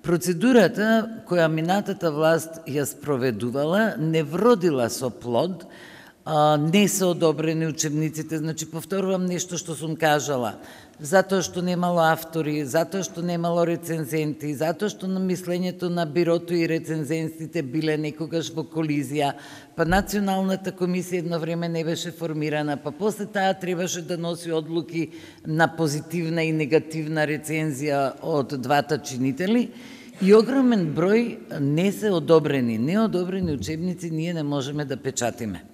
Процедурата која минатата власт ја спроведувала не вродила со плод, не се одобрени учебниците, значи повторувам нешто што сум кажала, затоа што немало автори, затоа што немало рецензенти, затоа што на мислењето на бирото и рецензентите биле некогаш во колизија, па Националната комисија едно време не беше формирана, па после таа требаше да носи одлуки на позитивна и негативна рецензија од двата чинители, и огромен број не се одобрени, неодобрени учебници ние не можеме да печатиме.